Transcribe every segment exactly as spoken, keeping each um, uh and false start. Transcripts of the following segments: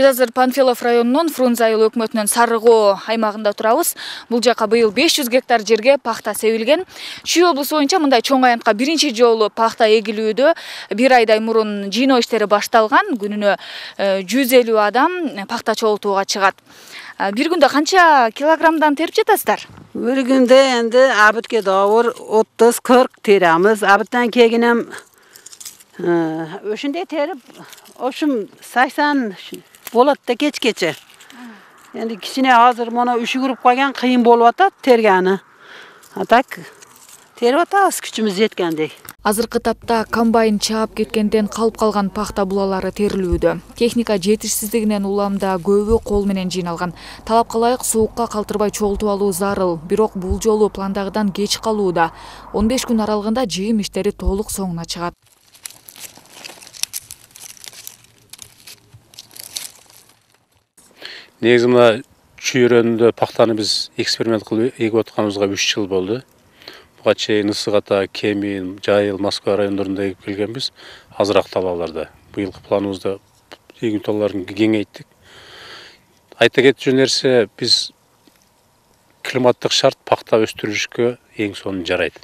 Биз азыр Панфилов районунун Фрунзе айыл өкмөтүнүн Сарыгоо аймагында турабыз. Бул жака быйыл беш жүз гектар жерге пахта себилген. Чүй облусу боюнча мындай чоң аянтка биринчи жолу пахта эгилүүдө бир айдай мурун жыйноо иштери башталган. Күнүнө жүз элүү адам пахта чогултууга чыгат. Бир күндө канча килограммдан терип жатасыздар? Бир күндө энди абытке добур отуз кырк теребиз. Абыттан кийин ошондой терип, ошум саксон болот да кечкече. Эndi кичине азыр мына үшүгүрүп калган, кыйын болуп атат тергени. А так терип атабыз күчүмүз жеткендей. Азыркы тапта комбайн чаап кеткенден калып калган пахта булалары терилүүдө. Техника жетишсиздигинен уламда көбү кол менен жыйналган. Талапка ылайык суукка калтырбай чогултуп алуу зарыл. Бирок бул жолу пландагыдан кеч калууда. он беш күн аралыгында жыйым иштери толук соңуна чыгат. Негизи мына чүй өрөөнүндө пахтаны биз эксперимент кылып эгип атканыбызга үч жыл болду. Буга чейин Ысык Ата, Кемин, Жайыл, Москва райондорунда эгип келгенбиз. Азыраак талааларда. Быйылкы планыбызда эгүү талааларын кеңейттик. Айта кетчү нерсе, биз климаттык шарт пахта өстүрүшкө эң сонун жарайт.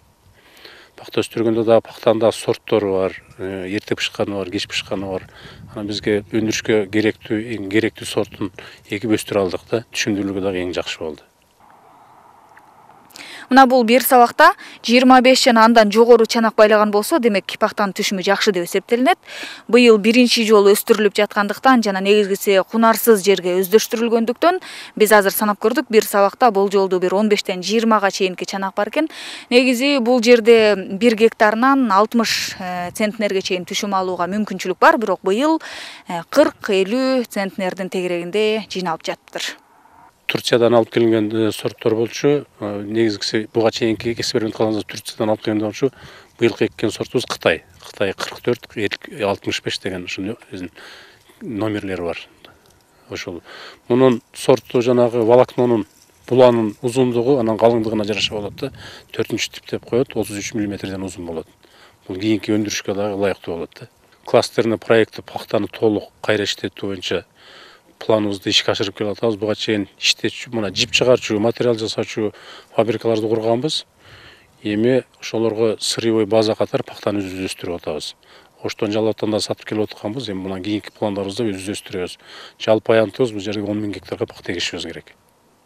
Пахта өстүргөндө да пахтанын сорттору бар, эрте пышканы бар, кеч пышканы бар. Анан бизге өндүрүшкө керектүү, эң керектүү сортун эгип өстүрө алдык да, түшүндүрүлгө дагы эң жакшы болду. Мына бул бир сабакта жыйырма беш жана андан жогору чанак байлаган болсо, демек пахтанын түшүмү жакшы деп эсептелинет. Быйыл биринчи жолу өстүрүлүп жаткандыктан жана негизгиси кунарсыз жерге өздөштүрүлгөндүктөн биз азыр санап көрдүк, бир сабакта бул жолду бир он бештен жыйырмага чейинки чанак бар экен. Негизи бул жерде бир гектарынан алтымыш центнерге чейин түшүм алууга мүмкүнчүлүк бар, бирок быйыл кырк элүү центнердин тегерегинде жыйналып жатыптыр. Турциядан алып келинген сорттор болчу. Негизгиси буга чейинки эксперимент кылганыбыз Турциядан алып келген болчу. Быйылкы эккен сортубуз Кытай. Кытай кырк төрт, алтымыш беш деген ушундай номерлери бар. Ошол. Мунун сорту жанагы волокнонун буланын узундугу анан калыңдыгына жараша болот да. төртүнчү тип деп коет, отуз үч миллиметрден узун болот. Бул кийинки өндүрүшкө дагы ылайыктуу болот да. Кластерный проекти пахтаны толук кайра иштетүү боюнча планыбызды ишке ашырып келип атабыз. Буга чейин иштетчү, мына жип чыгарчу, материал жасаучу фабрикаларды курганбыз. Эми ошолорго сырьевой база катары пахтаны өзүбүз өстүрүп атабыз. Оштон жалаттан да сатып келип атканбыз. Эми мына кийинки пландарыбызда өзүбүз өстүрөбүз. Жалпы аянтыбыз бул жерге он миң гектарга пахта эгишибиз керек.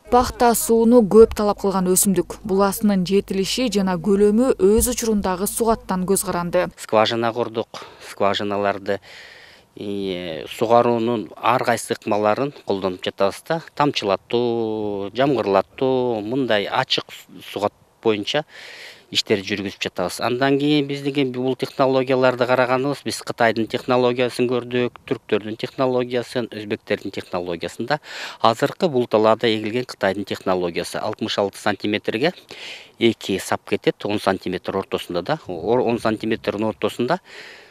Пахта сууну көп талап кылган өсүмдүк. Буласынын жетилиши жана көлөмү өз учурундагы сугаттан көз каранды. Скважина курдук. Скважиналарды сугаруунун ар кайсы ыкмаларын колдонуп жатабыз да. Тамчылатуу, жамгырлатуу, мындай ачык сугат боюнча иштер жүргүзүп жатабыз. Андан кийин биздин бул технологияларды караганыбыз, биз Кытайдын технологиясын көрдүк, түрктөрдүн технологиясын, өзбектердин технологиясын да. Азыркы бул талаада эгилген Кытайдын технологиясы алтымыш алты сантиметрге эки сап кетет, он сантиметр ортосунда да, он сантиметрдин ортосунда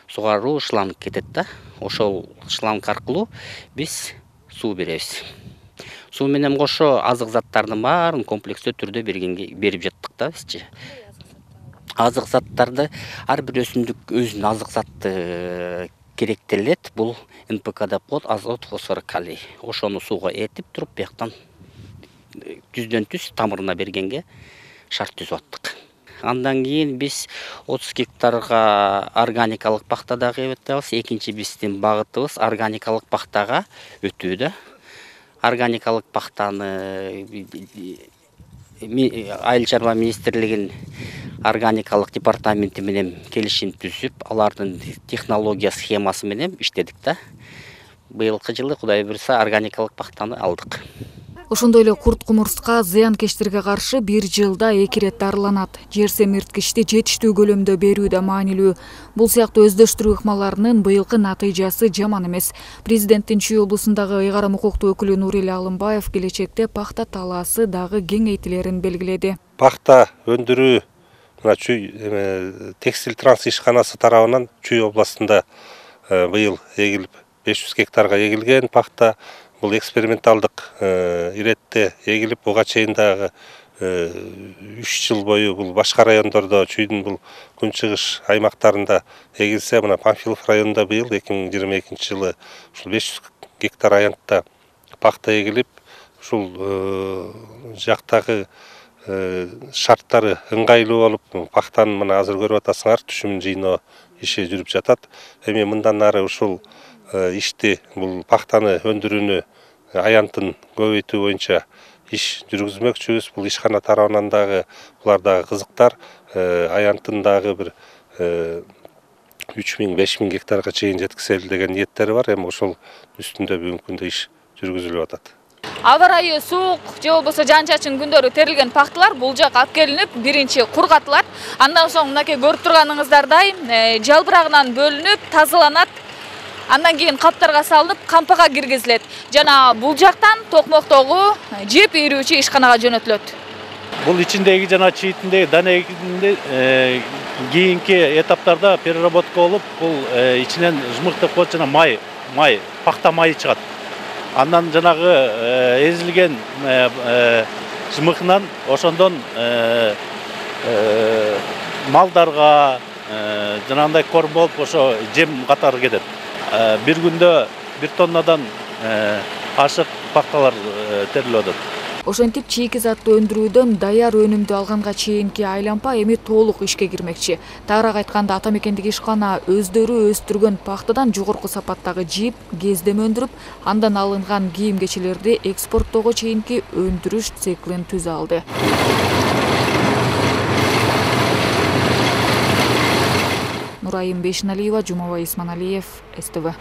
сугаруу шланг кетет да. Ошол шланг аркылуу биз суу беребиз. Суу менен кошо азык заттардын баарын комплекстүү түрдө бергенге берип жаттык да бизчи. Азык заттарды ар бир өсүмдүк өзүнүн азык заты керектелет. Бул эн пэ ка деп коет, азот, фосфор, калий. Ошону сууга эритип туруп, бияктан түздөн түз тамырына бергенге шарт түзүп аттык. Андан кийин биз отуз гектарга органикалык пахта дагы эгип атабыз. Экинчи биздин багытыбыз органикалык пахтага өтүү да. Органикалык пахтаны Айыл чарба министрлигинин органикалык департаменти менен келишим түзүп, алардын технология схемасы менен иштедик да. Быйылкы жылы Кудай буйрса органикалык пахтаны алдык. Ошондой эле курт-кумурска, зыянкечтерге каршы бир жылда эки ирет дарыланат. Жер семирткичти жетиштүү көлөмдө берүү да маанилүү. Бул сыяктуу өздөштүрүү ыкмаларынын быйылкы натыйжасы жаман эмес. Президенттин Чүй облусундагы ыйгарым укуктуу өкүлү Нурили Алымбаев келечекте пахта талаасы дагы кеңейтилерин белгиледи. Пахта өндүрүү мына Чүй текстиль транс ишканасы тарабынан Чүй областында быйыл эгилип беш жүз гектарга эгилген пахта. Бул эксперименталдык иретте эгилип, буга чейин дагы үч жыл бою бул башка райондордо, Чүйдүн бул күнчыгыш аймактарында эгилсе, мына Панфилов районунда быйыл эки миң жыйырма экинчи жылы ушул беш жүз гектар аянтта пахта эгилип, ушул жактагы шарттары ыңгайлуу болуп, пахтаны мына азыр көрүп атасыңар, түшүмүн жыйноо иши жүрүп жатат. Эми мындан ары ушул ишти, бул пахтаны өндүрүүнү, аянтын көбөйтүү боюнча иш жүргүзмөкчүбүз. Бул ишкана тарабынан дагы булар дагы кызыктар. Аянтын дагы бир үч миң беш миң гектарга чейин жеткизели деген ниеттери бар. Эми ошол үстүндө бүгүнкү күндө иш жүргүзүлүп атат. Аба ырайы суук же болбосо жан чачын күндөрү терилген пахталар бул жака алып келинип, биринчи кургатылат. Андан соң мынакей көрүп турганыңыздардай жалбырагынан бөлүнүп, тазаланат. Андан кийин каптарга салынып, кампага киргизилет. Жана бул жактан токмоктогу жеп ийрүүчү ишканага жөнөтүлөт. Бул ичиндеги жана чийитиндеги данегинде кийинки этаптарда переработка болуп, бул ичинен жымык деп коет, жана май, май, пахта майы чыгат. Андан жанагы эзилген жымыкынан ошондон малдарга жанагындай корм болуп, ошо жем катары кетет. Бир күндө бир тоннадан ашык пахталар терилип атат. Ошентип чийки затты өндүрүүдөн даяр өнүмдү алганга чейинки айлампа эми толук ишке кирмекчи. Тагыраак айтканда, ата мекендик ишкана өздөрү өстүргөн пахтадан жогорку сапаттагы жип, кездеме өндүрүп, андан алынган кийим-кечелерди экспорттоого чейинки өндүрүш циклин түзө алды. Нурайым Бейшиналиева, Жумабай Исманалиев, С Т В.